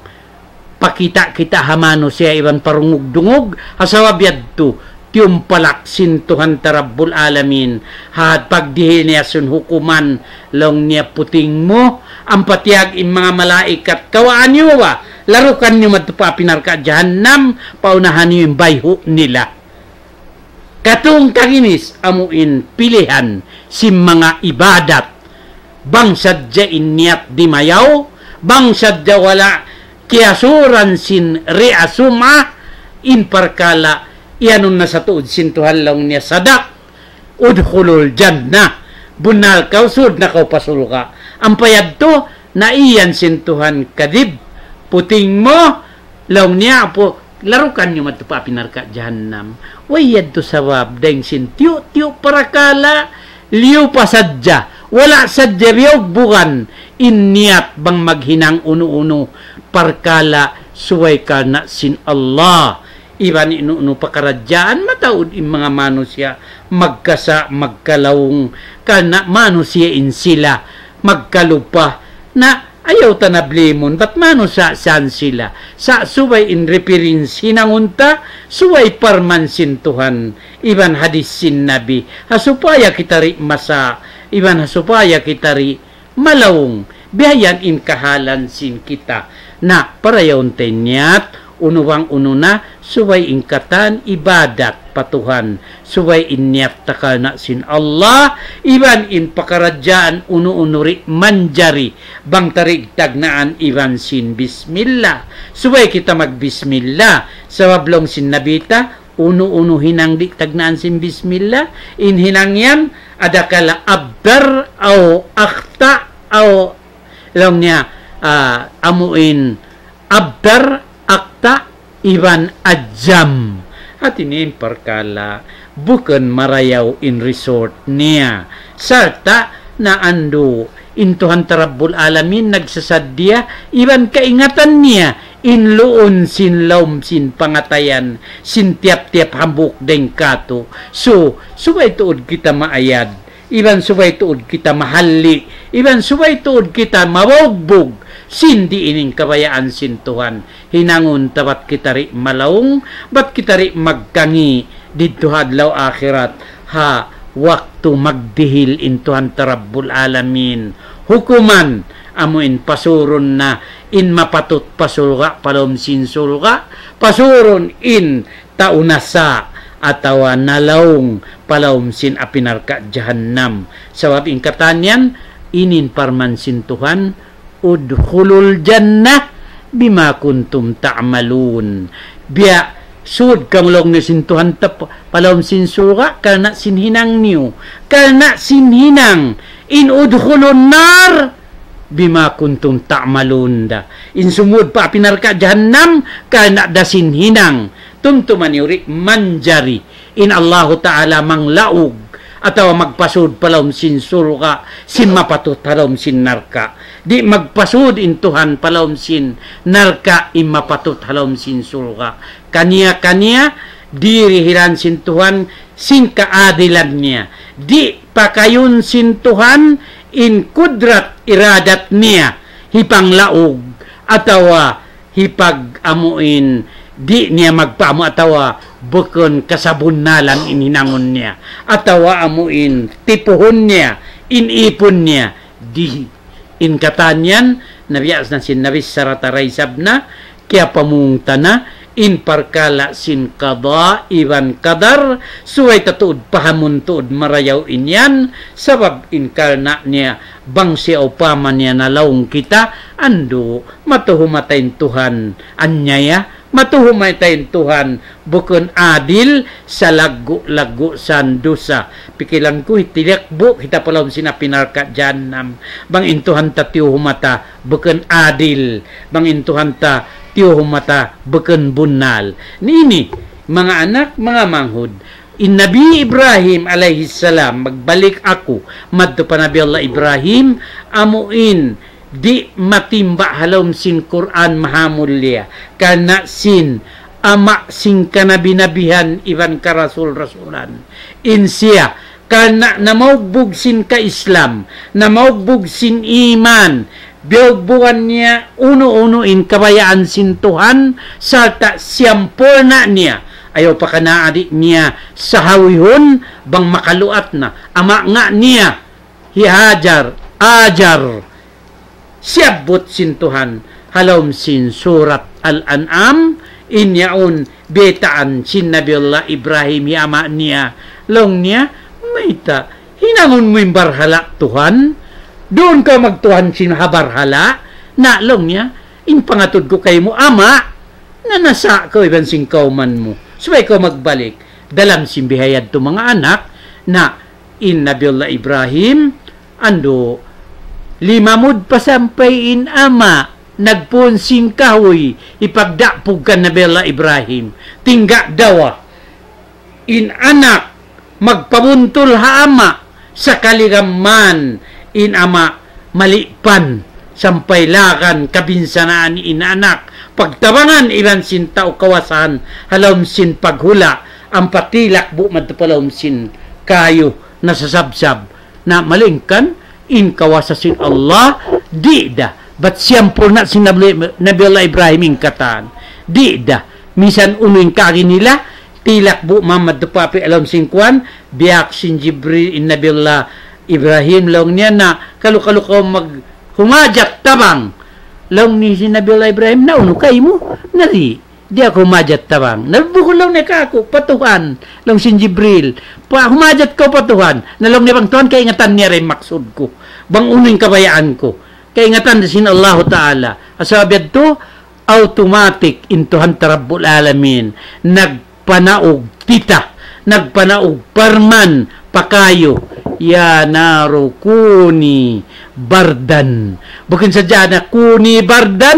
pakita'-kita' ha manusiya' iban parungug-dungug, ha sabab yadtu, tiyumpalak sin Tuhan ta Rabbul Alamin, ha pagdihil niya sin hukuman, laung niya puting mu, ampa tiyag in manga malaikat, kawaan niyu ba, larukan niyu madtu pa api narka' jahannam, paunahan niyu in bayhu' nila. Katungkaginis amu in pilihan sin manga ibadat. Bang sadja in niyat dimayaw, bang sadja wala' kiyasuran sin riya sum'ah, in parkala' iyanun na sa tuud sin Tuhan laung niya sadaq. Udkhulul jannah. Bunnal kaw, sud na kaw pa surga'. Ampa yadtu, na iyan sin Tuhan kadhib. Puting mu, laung niya, apu, larukan niyu madtu pa api narka' jahannam. Way yadtu sabab, dayng sin tiyu'-tiyu' parakala', liyu pa sadja, wala' sadja biyugbugan, in niyat bang maghinang unu-unu, parkala', subay karna' sin Allah. Iban in unu-unu pakaradjaan, mataud in manga manusiya', magkasa', magkalaung, karna' manusiya' in sila, magkalupa, na ayaw ta na blimun, bat manusiya' san sila. Sa' subay in reference hinangun ta, subay parman sin Tuhan, iban hadis sin Nabi. Ha supaya kita di' masa, iban ha supaya kita di' malaung, biya' yan in kahalan sin kita. Na, parayawun ta in niyat, unu bang unu na, subay in katan ibadat pa Tuhan, subay in niyat ta karna' sin Allah, iban in pakaradjaan unu-unu di' manjari, bang ta di' tagnaan iban sin bismillah. Subay kita magbismillah, sabab laung sin Nabi ta, unu-unu hinang di' tagnaan sin bismillah, in hinang yan, adakala abdar, aw akhta, aw laung niya, ah, amu in abdar, akta, iban ajam. Hati niya in parkala', bukun marayaw in result niya. Sarta' na andu' in Tuhan ta Rabbul Alamin nagsasaddiya, iban kaingatan niya, in luun sin lawm sin pangatayan, sin tiyap-tiyap hambuuk dayng katu'. So, subay tuud kita maayad. Iban subay tuud kita mahalli', iban subay tuud kita mabugbug, sin di' ini in kabayaan sin Tuhan. Hinangun ta bat kita di' malaung, bat kita di' magkangi', didtu ha adlaw akhirat, ha waktu magdihil in Tuhan ta Rabbul Alamin hukuman, amu in pasurun na in mapatut pa surga' pa lawm sin surga', pasurun in tau nasa' atawa nalaung pa lawm sin api narka' jahannam. Sabab in katan yan, ini in parman sin Tuhan, ادخلوا الجنة بما كنتم تعملون. Biya' sud kamu laung niya sin Tuhan ta pa, pa lawm sin surga' karna' sin hinang niyu. Karna' sin hinang in ادخلوا النار بما كنتم تعملون da. In sumud pa api narka' jahannam karna' da sin hinang. Tumtuma niyu di' manjari in Allahu Ta'ala manglaug atawa magpasud pa lawm sin surga' sin mapatut ha lawm sin narka'. Di' magpasud in Tuhan pa lawm sin narka' in mapatut ha lawm sin surga'. Kaniya-kaniya dirihilan sin Tuhan sin kaadilan niya. Di' pakayun sin Tuhan in kudrat iradat niya hipanglaug atawa hipag-amuin, di' niya magpaamu atawa bukun kasabunnalan in hinangun niya, atawa amuin tipuhun niya in ipun niya, di'. In katan yan, nabiya' na sin Nabi sarta' da isab na, kiyapamung ta na in parkala' sin qada iban qadar, subay ta tuud pahamun tuud marayaw in yan, sabab in karna' niya bang sawpama niya nalaung kita, andu', matuhum ta in Tuhan anyaya, matuhum ta in Tuhan bukun adil, salaggu'-laggu' sin dusa. Pikilan ku, hitilakbu' kita pa lawm sin api narka' jahannam. Bang in Tuhan ta tiyuhum ta bukun adil, bang in Tuhan ta tiyuhum ta bukun bunnal. Ini, manga anak, manga manghud, in Nabi Ibrahim alayhi salam, magbalik aku madtu pa Nabi Allah Ibrahim, amuin di' matimba' ha lawm sin Qur'an mahamulliya, karna' sin ama' sin kanabi-nabihan iban karasul-rasulan. In siya, karna' namaugbug sin ka-Islam, namaugbug sin iman, biyaugbugan niya unu-unu in kabayaan sin Tuhan, sarta' siyampurna' niya. Ayaw pa kanaa di' niya sahawihun, bang makaluat na. Ama' nga niya, hi Hajar, Ajar, siyabbut sin Tuhan ha lawm sin Surat Al-An'am, in yaun baytaan sin Nabi Allah Ibrahim hi ama' niya. Laung niya, "Mayta', hinangun mu in barhala' Tuhan? Duun kaw magtuhan sin ha barhala'?" Na, laung niya, "In pangatud ku kaymu, ama', na nasa' kaw iban sin kawman mu. Subay kaw magbalik." Dalam sin bihayan tu, manga anak, na in Nabi Allah Ibrahim, andu', limamud pa sampay in ama', nagpun sin kahuy, hipagdapug kan Nabi Allah Ibrahim. Tingga' dawa. In anak, magpabuntul ha ama', sakali ra man in ama' malipan, sampay lagan kabinsanaan in anak, pagtabangan iban sin tau kawasahan, ha lawm sin paghula', ampa tilakbu' madtu pa lawm sin kayu, nasasabsab. Na malayngkan in kawasa sin Allah, di' da. Bat siyampurna' sin Nabi, Nabi Allah Ibrahim in katan. Di' da. Misan unu in kaagi nila, tilakbu' mamadtu pa api ha lawm sin kuwan, biyak sin Jibril in Nabi Allah Ibrahim, laung niya, "Na, kalu-kalu kaw mag-, humajat tabang." Laung niya sin Nabi Allah Ibrahim, "Na unu kaymu?" "Na di', di' aku humajat tabang." "Na bukun," laung niya, "kāku', pa Tuhan," laung sin Jibril. "Pa, humajat kaw pa Tuhan." Na laung niya, "Bang Tuhan, kaingatan niya ra in maksud ku. Bang unu in kabayaan ku. Kaingatan sin Allahu Ta'ala." Sabab yadtu, automatic in Tuhan ta Rabbul Alamin nagpanaug tita, nagpanaug parman pa kayu, "يا نار كوني بردا." Bukun sadja na "كوني بردا",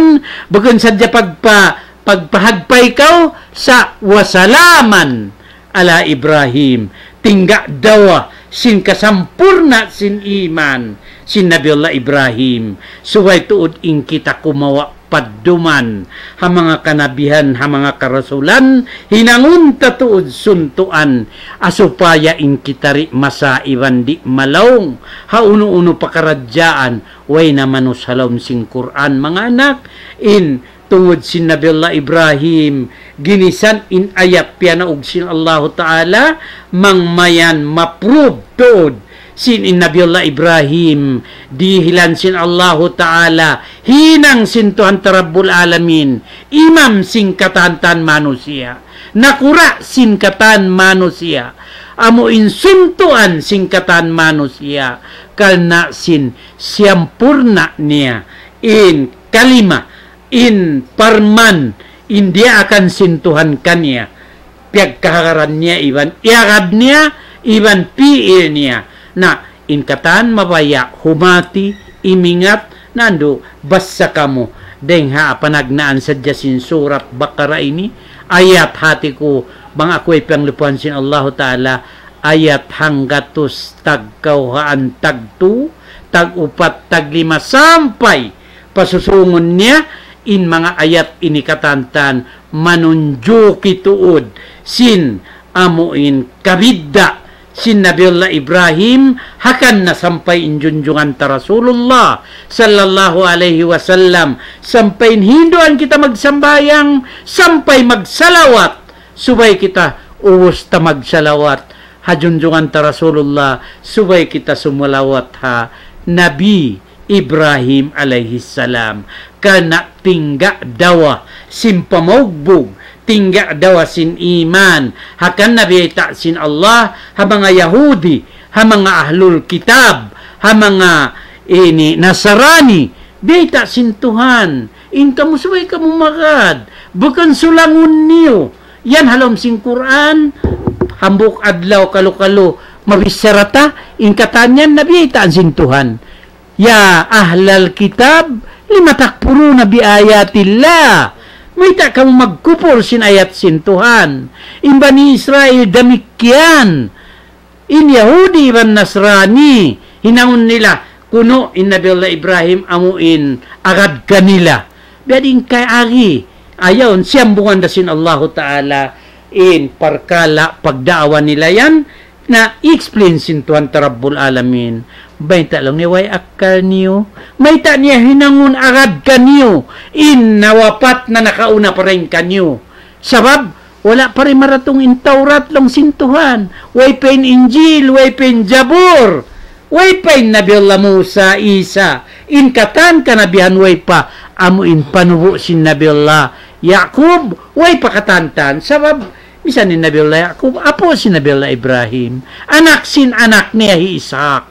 bukun sadja pagpa-, pagpahagpay kaw sa' "وسلاما على إبراهيم." Tingga' dawa sin kasampurna' sin iman sin Nabi Allah Ibrahim. Subay tuud in kita kumawa' padduman ha manga kanabihan, ha manga karasulan, hinangun ta tuud suntuan, ha supaya in kita di' masaiban, di' malaung ha unu-unu pakaradjaan, way na manus ha lawm sin Qur'an, manga anak, in tungud sin Nabiullah Ibrahim, ginisan in ayat piyanaug sin Allahu Ta'ala, mangmayan maprove tuud sin in Nabiullah Ibrahim, dihilan sin Allahu Ta'ala, hinang sin Tuhan ta Rabbul Alamin, imam sin katan-katan manusiya', nakura' sin katan manusiya', amu in suntuan sin katan manusiya', karna' sin siyampurna' niya in kalima, in parman, in diyaakan sin Tuhan kaniya, piyagkahagaran niya iban iyagad niya iban pi'il niya. Na, in katan mabaya' humati, imingat, nandu', basa kamu. Dayng ha panagnaan sadja sin surat Baqarah ini, ayat hati ku, bang aku ipanglupahan sin Allahu Ta'ala, ayat hanggatus tagkawhaan tagtu, tag-upat, taglima, sampay pasusungun niya, in manga ayat ini katan-katan manunjuki tuud sin amu in kabidda' sin Nabiullah Ibrahim, hangkan na sampay in junjungan ta Rasulullah sallallahu alayhi wasallam, sampay in hinduan kita magsambahayang, sampay magsalawat, subay kita ubus ta magsalawat ha junjungan ta Rasulullah, subay kita sumalawat ha Nabi Ibrahim alayhi salam. Karna' tingga' dawa sin pamaugbug, tingga' dawa sin iman, hangkan na biyayta' sin Allah ha manga Yahudi, ha manga ahlul kitab, ha manga ini Nasarani, biyayta' sin Tuhan, in kamu subay kamu magad, bukun sulangun niyu. Yan ha lawm sin Qur'an, hambuuk adlaw kalu-kalu mabichara ta, in katan yan na biyaytaan sin Tuhan. يا أهل الكتاب لم تكفرون بآيات الله. Mayta' kamu magkupur sin ayat sin Tuhan? In Bani Israil damikkiyan. In Yahudi iban Nasrani, hinangun nila, kunu' in Nabi Allah Ibrahim amu in agad kanila. Biya' diin kay agi, ayaw, siyambungan da sin Allahu Ta'ala, in parkala' pagdaawa nila yan, na explain sin Tuhan ta Rabbul Alamin. Mayta' laung niya way akkal niyu? Mayta' niya hinangun agad kaniyu in nawapat na nakauna pa dayn kaniyu? Sabab, wala' pa rin maratung in Tawrat laung sin Tuhan. Way pa in Injil, way pa in Jabur. Way pa in Nabi Allah Musa, Isa. In katan kanabihan way pa, amu in panubu' sin Nabi Allah Yaqub, way pa katan-katan. Sabab, misan in Nabi Allah Yaqub, apu' sin Nabi Allah Ibrahim, anak sin anak niya hi Ishaq.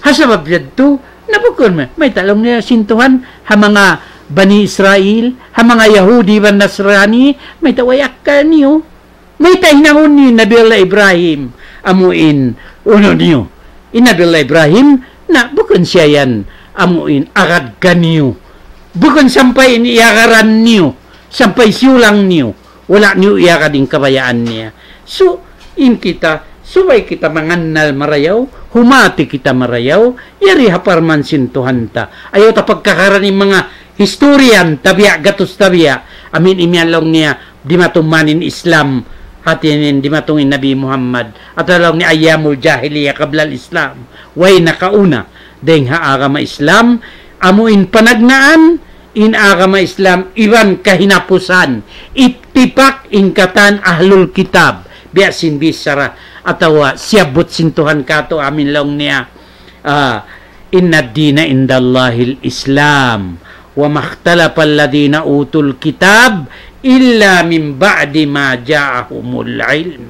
Ha sabab yadtu, na bukun ma-, mayta' laung niya sin Tuhan, ha manga Bani Israil, ha manga Yahudi iban Nasrani, mayta' way akkal niyu? Mayta' hinangun niyu Nabi Allah Ibrahim, amu in unu niyu? In Nabi Allah Ibrahim, na bukun siya yan, amu in agad kaniyu. Bukun sampay in iyagaran niyu, sampay siyulang niyu, wala' niyu iyagad in kabayaan niya. So, in kita, subay kita mangannal marayaw, humati kita marayaw, yari ha parman sin Tuhan ta. Ayaw ta pagkakaran in manga historian, tabiya', gatus tabiya'. Amin imiyan laung niya, dimatung man in Islam, hati niya dimatung in Nabi Muhammad. Atawa laung niya ayyamul jahiliya qabla al-Islam. Way nakauna dayn ha agama Islam, amu in panagnaan, in agama Islam, iban kahinapusan, ittipak in katan ahlul kitab, biya' sin bichara, atawa siyabbut sin Tuhan katu' amin laung niya, ah, إن الدين عند الله الإسلام وما اختلف الذين أوتوا الكتاب إلا من بعد ما جاءهم العلم.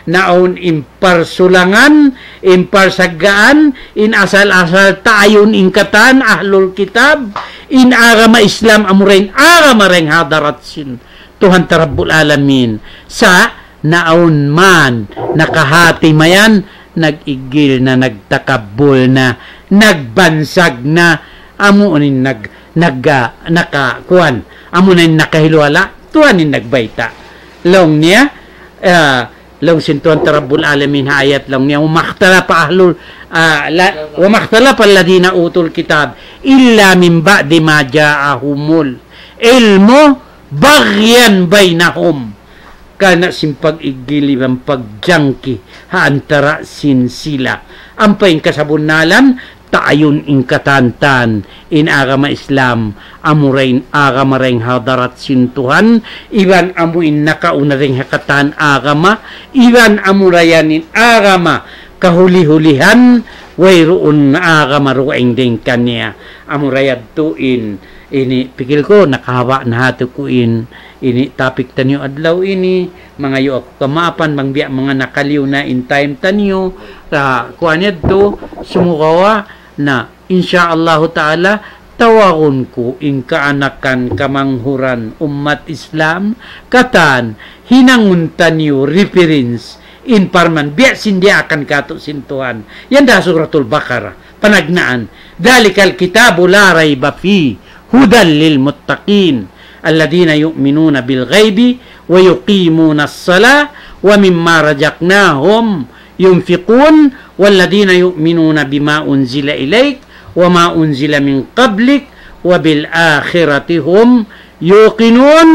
Na awn in parsulangan, in parsaggaan, in asal-asal taayun in katan ahlul kitab, in agama Islam amura in agama dayn ha hadarat sin Tuhan ta Rabbul Alamin. Sa' na awn man, nakahati mayan, nag-igil na, nagtakabbul na, nagbansag na, amu in nag-, nag-, ah, naka-, kuwan, amu na in nakahiluhala', Tuhan in nagbayta'. Laung niya, ah, laung sin Tuhan ta Rabbul Alamin ha ayat laung niya, وما اختلف أهل ال-, ah, la-, وما اختلف الذين أوتوا الكتاب إلا من بعد ما جاءهم العلم بغيا بينهم. Karna' sin pag-igil iban pagjangki ha antara' sin sila. Ampa in kasabunnalan, taayun in katan-katan, In agama Islam, amura in agama dayn ha hadarat sin Tuhan, iban amu in nakauna dayn ha katan agama, iban amura yan in agama kahuli-hulihan, wayruun agama dugaing dayn kaniya. Amura yadtu in, ini pikil ku, nakahaba' na hatu ku in, ini topic taniyu adlaw ini, mangayu' aku kamaapan, bang biya' manga nakaliyu na in time taniyu, ah, kuwan yadtu, sumagawa', na, insya Allahu Ta'ala, tawagun ku in kaanakan kamanghuran ummat Islam, katan hinangun taniyu reference in parman, biya' sin diyaakan kātu' sin Tuhan. Yan da Suratul Baqarah, panagnaan. ذلك الكتاب لا ريب فيه هدى للمتقين الذين يؤمنون بالغيب ويقيمون الصلاة ومما رزقناهم ينفقون والذين يؤمنون بما أنزل إليك وما أنزل من قبلك وبالآخرة هم يوقنون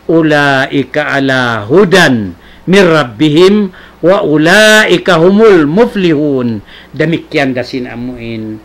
أولئك على هدى من ربهم وأولئك هم المفلحون. Damikkiyan da sin amuin,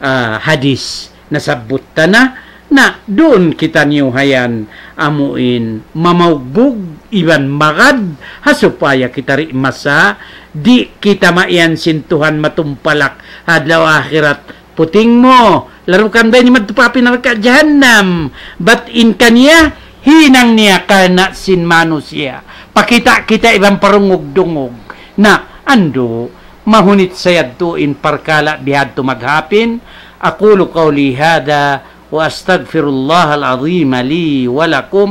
ah, hadis nasabbut ta na, na duun kitaniyu hayan amuin mamaugbug iban magad, ha supaya kita di' masa, di' kita maiyan sin Tuhan matumpalak ha adlaw akhirat. Puting mu, larukan ba ini madtu pa api narka' jahannam? Bat in kaniya, hinang niya karna' sin manusiya'. Pakita' kita iban parungug-dungug. Na, andu', mahunit sa yadtu in parkala' bihadtu maghapin. أقول قولي هذا وأستغفر الله العظيم لي ولكم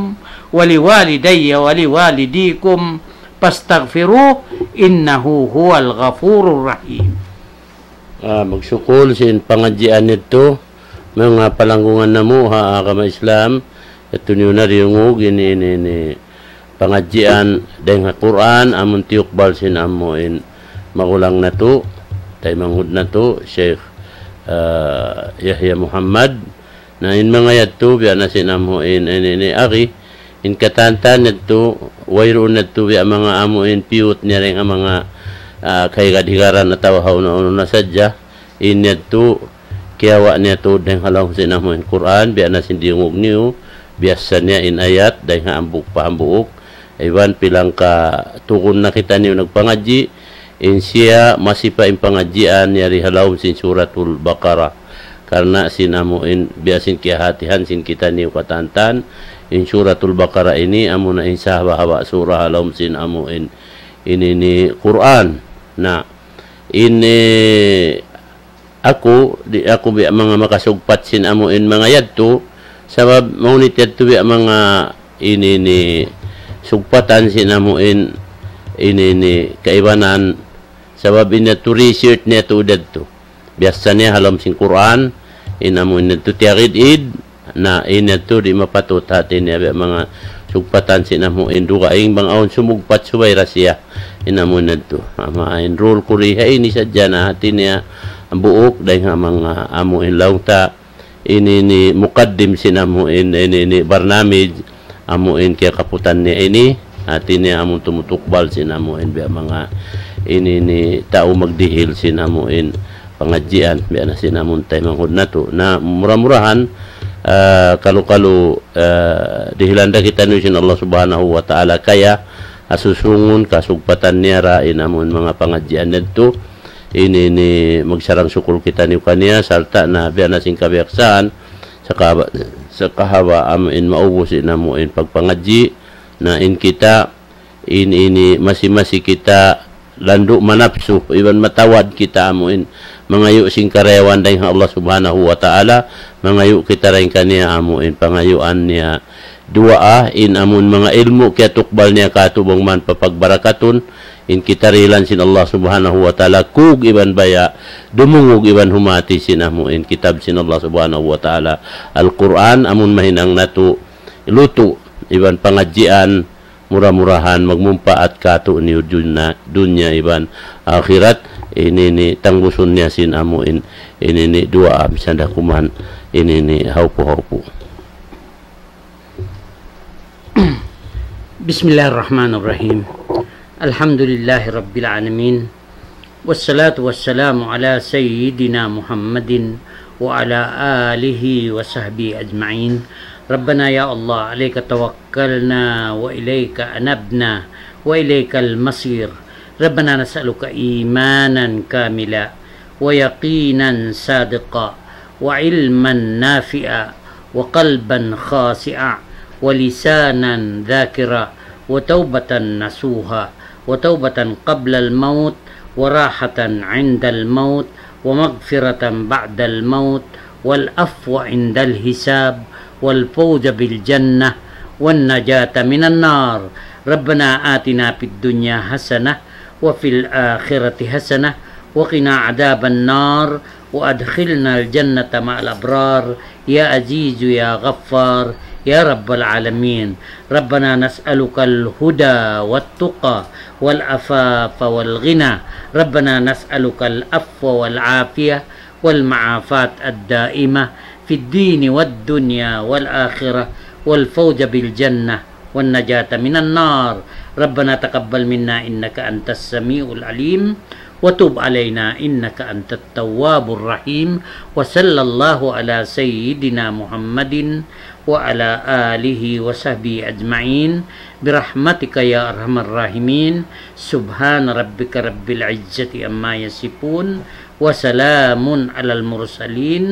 ولوالدي ولوالديكم فاستغفروه إنه هو الغفور الرحيم. Ah, magsukul sin pangadjian yadtu, manga palanggungan namu' ha agama Islam, yadtu niyu na diyungug ini, ini, ini, pangadjian dayng ha Qur'an, amun tiyukbal sin amuin magulang natu', taymanghud natu', Sheikh, ah, Yahya Muhammad, Na in manga yadtu, biya' na sin amuin, ini, ini, ari, in katantan yadtu, wayruun yadtu, biya' manga amuin, piyut niya dayng ha manga, ah, kahigad-higaran atawa ha unu-unu na sadja, in yadtu, kiyawa' niya tuud dayng ha lawm sin amuin Qur'an, biya' na sin diyungug niyu, biyassa niya in ayat, dayng ha hambuuk pa hambuuk, iban pilang ka tugun na kitaniyu nagpangadji', in siya masi pa in pangadjian yari ha lawm sin Suratul Baqarah. Karna' sin amuin biya' sin kiyahatihan sin kitaniyu katantan, in Suratul Baqarah ini amuna in sahaba'-haba' surah ha lawm sin amuin ini, ini Qur'an. Na, ini aku, di' aku biya' manga makasugpat sin amuin manga yadtu, sabab mahunit yadtu biya' manga ini, ini sugpatan sin amuin ini, ini kaibanan, sabab in yadtu research niya tuud yadtu. Biyassa niya ha lawm sin Qur'an, in amuin yadtu tiyagid-id, na in yadtu di' mapatut hati niya biya' manga sugpatan sin amuin dugaing bang awn sumugpat subay ra siya. In amuin yadtu. Ama in rule ku di ha ini sadja na hati niya buuk dayng ha manga amuin laung ta. Ini, ini mukaddim sin amuin, ini, ini barnamij, amuin kiyakaputan niya ini. Hati niya amun tumutukbal sin amuin biya' manga ini, ini tau magdihil sin amuin pangadjian, biya' na sin amun taymanghud natu'. Na, mura-murahan, ah, kalu-kalu, ah, dihilan da kitaniyu sin Allah Subhanahu wa Ta'ala kaya, ha susungun kasugpatan niya ra in amun manga pangadjian yadtu. Ini, ini magsarang-sukul kitaniyu kaniya, sarta' na biya' na sin kabiyaksahan, sakahaba', sakahaba' amuin maubus in amuin pagpangadji', na in kita, in ini masi-masi kita landu' manapsu, iban matawad kita amuin mangayu' sin karayawan dayng ha Allah Subhanahu wa Ta'ala, mangayu' kita dayng kaniya amuin pangayuan niya duwaa, in amuin manga ilmu' kiyatukbal niya kātu' bang man papagbarakatun, in kita dihilan sin Allah Subhanahu wa Ta'ala kug iban baya', dumungug iban humati sin amuin kitab sin Allah Subhanahu wa Ta'ala, Al-Qur'an, amun mahinang natu' lutu' iban pangadjian, mura-murahan magmumpaat kātu' niyu dunya, dunya iban akhirat. Ini, ini tangbusun niya sin amuin, ini, ini duwaa, misan da kuman, ini, ini haupu-haupu. بسم الله الرحمن الرحيم. الحمد لله رب العالمين. والصلاة والسلام على سيدنا محمد وعلى آله وصحبه أجمعين. ربنا يا الله، عليك توكلنا وإليك أنبنا وإليك المصير. ربنا نسألك إيمانا كاملا ويقينا صادقا وعلما نافعا وقلبا خاشعا ولسانا ذاكرا وتوبة نصوحا وتوبة قبل الموت وراحة عند الموت ومغفرة بعد الموت والعفو عند الحساب والفوز بالجنة والنجاة من النار. ربنا آتنا في الدنيا حسنة وفي الآخرة حسنة وقنا عذاب النار وأدخلنا الجنة مع الأبرار يا عزيز يا غفار يا رب العالمين. ربنا نسألك الهدى والتقى والعفاف والغنى. ربنا نسألك العفو والعافية والمعافاة الدائمة في الدين والدنيا والآخرة والفوز بالجنة والنجاة من النار. ربنا تقبل منا إنك أنت السميع العليم وتب علينا إنك أنت التواب الرحيم. وصلى الله على سيدنا محمد وعلى آله وصحبه أجمعين برحمتك يا أرحم الراحمين. سبحان ربك رب العزة عما يصفون وسلام على المرسلين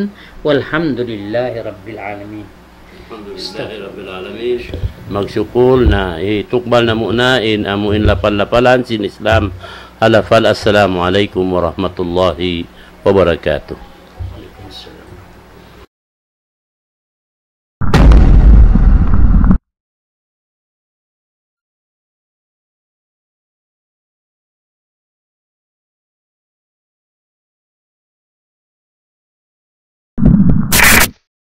والحمد لله رب العالمين. الحمد لله رب العالمين. Magsukul na, itukbal namu' na in amu in lapal-lapalan sin Islam. Alafal, assalamu alaykum warahmatullahi wabarakatuh.